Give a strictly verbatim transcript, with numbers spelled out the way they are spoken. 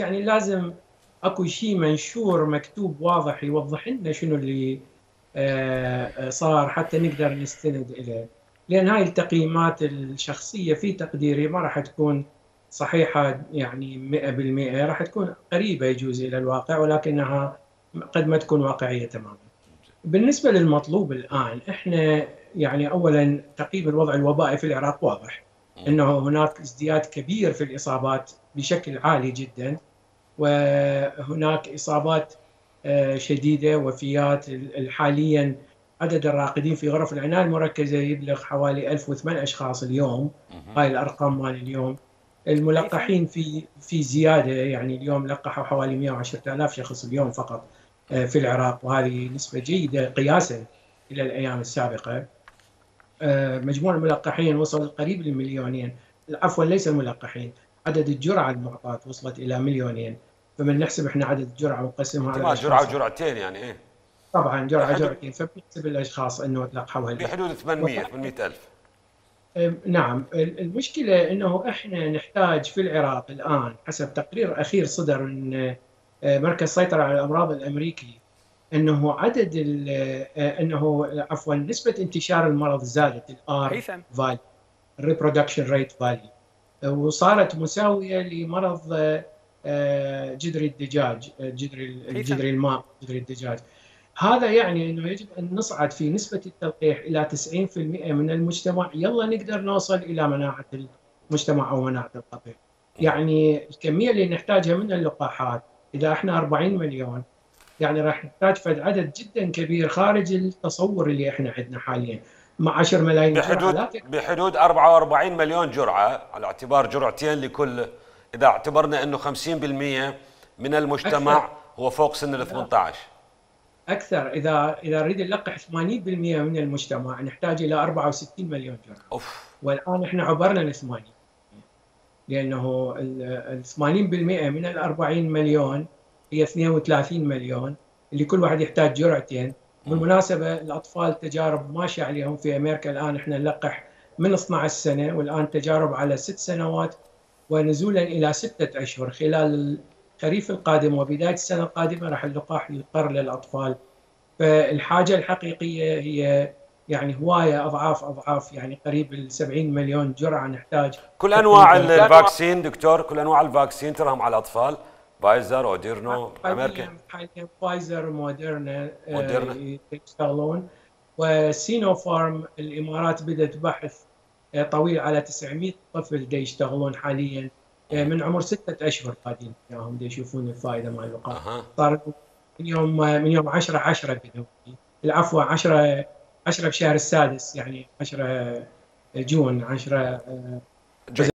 يعني لازم اكو شيء منشور مكتوب واضح يوضح لنا شنو اللي آه، صار حتى نقدر نستند إليه. لأن هاي التقييمات الشخصية في تقديري ما راح تكون صحيحة يعني مئة بالمئة، راح تكون قريبة يجوز إلى الواقع ولكنها قد ما تكون واقعية تماما. بالنسبة للمطلوب الآن إحنا يعني أولا تقييم الوضع الوبائي في العراق واضح أنه هناك ازدياد كبير في الإصابات بشكل عالي جدا، وهناك إصابات شديدة، وفيات. حاليا عدد الراقدين في غرف العناية المركزة يبلغ حوالي ألف وثمانية أشخاص اليوم. هاي الأرقام مال اليوم. الملقحين في في زيادة، يعني اليوم لقحوا حوالي مئة وعشرة آلاف شخص اليوم فقط في العراق، وهذه نسبة جيدة قياسا إلى الأيام السابقة. مجموع الملقحين وصل قريب للمليونين، عفوا ليس الملقحين، عدد الجرعة المعطاة وصلت إلى مليونين. فمن نحسب احنا عدد الجرعة ونقسمها على الاشخاص، جرعة وجرعتين يعني ايه؟ طبعا جرعة جرعتين، فبنحسب الاشخاص انه تلقحوا بحدود ثمانمئة ثمانمئة ألف. نعم. المشكلة انه احنا نحتاج في العراق الان حسب تقرير اخير صدر من مركز السيطرة على الامراض الامريكي انه عدد انه عفوا نسبة انتشار المرض زادت، الار فالي، الريبرودكشن ريت فالي، وصارت مساوية لمرض جدري الدجاج، جدري الجدري الماء، جدري الدجاج. هذا يعني انه يجب ان نصعد في نسبة التلقيح الى تسعين بالمئة من المجتمع، يلا نقدر نوصل الى مناعة المجتمع او مناعة القطيع. يعني الكمية اللي نحتاجها من اللقاحات اذا احنا أربعين مليون، يعني راح نحتاج فد عدد جدا كبير خارج التصور اللي احنا عندنا حاليا، مع عشرة ملايين بحدود جرعة بحدود أربعة وأربعين مليون جرعة على اعتبار جرعتين لكل. اذا اعتبرنا انه خمسين بالمئة من المجتمع أكثر. هو فوق سن ال ثمانية عشر. اكثر. اذا اذا نريد نلقح ثمانين بالمئة من المجتمع نحتاج الى أربعة وستين مليون جرعة. أوف. والان احنا عبرنا ال ثمانين، لانه ال ثمانين بالمئة من ال أربعين مليون هي اثنين وثلاثين مليون، اللي كل واحد يحتاج جرعتين. بالمناسبة الأطفال تجارب ماشية عليهم في أمريكا الآن، إحنا نلقح من اثنعش سنة، والآن تجارب على ست سنوات ونزولا إلى ستة أشهر. خلال الخريف القادم وبداية السنة القادمة راح اللقاح يقر للأطفال. فالحاجة الحقيقية هي يعني هواية أضعاف أضعاف، يعني قريب ال سبعين مليون جرعة نحتاج. كل أنواع الفاكسين دكتور، كل أنواع الفاكسين تراهم على الأطفال، فايزر وديرنو امريكا. حاليا فايزر وموديرنا موديرنا يشتغلون، وسينو فارم الامارات بدات بحث طويل على تسعمئة طفل دي يشتغلون حاليا من عمر ستة اشهر، قاعدين وياهم دي يشوفون الفائده مال اللقاح. أه. صار من يوم من يوم عشرة عشرة بدوا، العفو عشرة عشرة بشهر السادس، يعني عشرة جون عشرة